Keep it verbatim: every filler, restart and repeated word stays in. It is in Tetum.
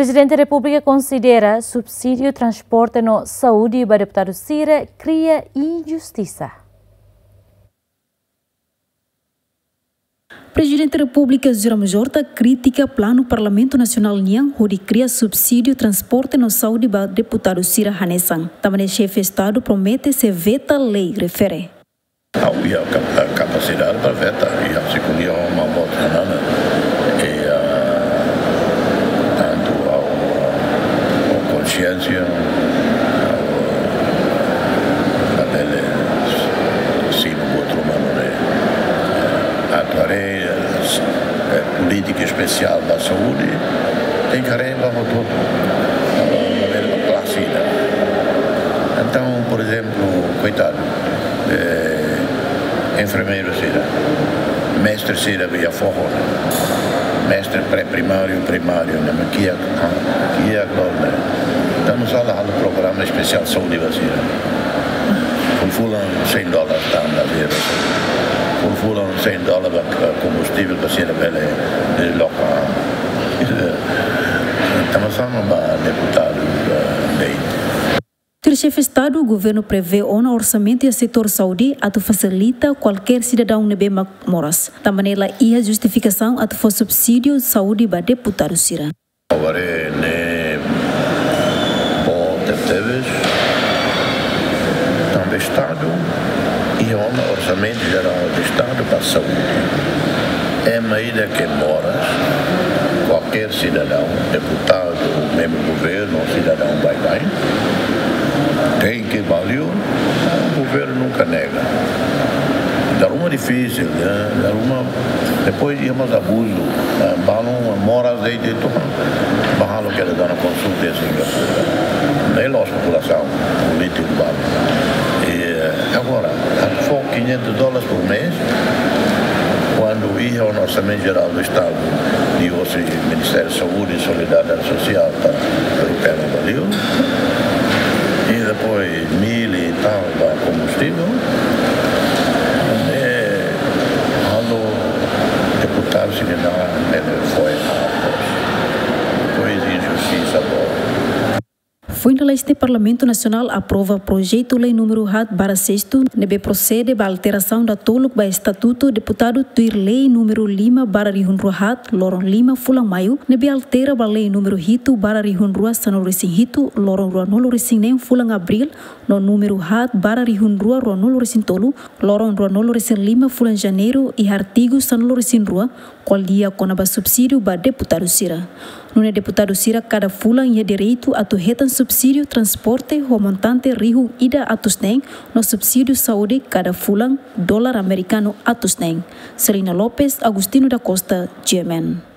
Prezidente Repúblika konsidera subsídiu transporte no saúde ba deputadu sira kria injustisa. Prezidente Repúblika José Ramos Horta kritika planu Parlamentu Nasionál nian hodi kria subsídiu transporte no saúde ba deputadu sira hanesan. Tanba ne'e xefe Estadu promete sei veta lei refere. Ha'u iha kap-, kapasidade para veta, iha sikulion mamot hanana. E, ah, tantu ha'u, ah, ho konsiénsia, ha'u, ah, labele simu buat ruma ne'e. Atu haree, eh, polítika espesiál ba saúde, tenke haree ba hotu-hotu. Labele ba klase ida. Entaun, por ezemplu, koitadu, eh, enfermeiru sira, mestre sira iha foho, mestre pré-primáriu, primáriu, ne'e mak kiak, ah, kiak dór ne'e. Entaun, nusá la halo programa espesiál saúde ba sira. Fulan-fulan cem dólares tan ba sira. Fulan-fulan cem dólares ba, eh, kombustível ba sira bele, eh, loka. Tanba sá mak ba deputadu, eh, lei. Tuir xefe Estadu, governu prevee ona orsamentu iha setór saúde atu fasilita kualkér sidadaun ne'ebé mak moras. Tanba ne'e la iha justifikasaun atu fó subsídiu saúde ba deputadu sira. Agora ne'e boot tebes. Tanba Estadu iha ona orsamentu jerál do Estadu ba saúde. Ema ida ke moras, kualkér sidadaun, deputadu, membru governu, sidadaun baibain, tenke ba liur, governu nunka nega. Dala ruma difisil, eh, dala ruma, depois iha mós abuzu, eh, balun moras de'it, de'it, ba halo kedas dana konsulta iha Singapura. Ne'e loos populasaun, polítiku balun. E, eh, agora, atu fó quinhentos dólares por mês, kuandu iha ona orsamentu jerál do Estadu, liuhosi Ministériu Saúde i Solidariedade Sosiál, ta rukena ba liur. I depois mil i tal ba kombustível. E halo deputadu sira-ne'e bele foin atos. Depois injustisa boot. Foin dala este, Parlamentu Nasionál aprova projetu lei númeru haat barra sestu, ne'ebé prosede ba alterasaun datoluk ba estatutu deputadu tuir lei númeru lima barra rihun rua haat, loron lima fulan maiu, ne'ebé altera ba lei númeru hitu barra rihun rua sanulu resin hitu, loron ruanulu resin neen fulan abríl, no númeru haat barra rihun rua ruanulu resin tolu, loron ruanulu resin lima fulan janeiru, iha artigu sanulu resin rua, kual lia kona-ba subsídiu ba deputadu sira. Nune'e deputadu sira kada fulan iha direitu atu hetan subsídiu transporte ho montante rihun ida atus neen, no subsídiu saúde kada fulan dólar amerikanu atus neen. Celina Lopes, Agostinho da Costa, G M N.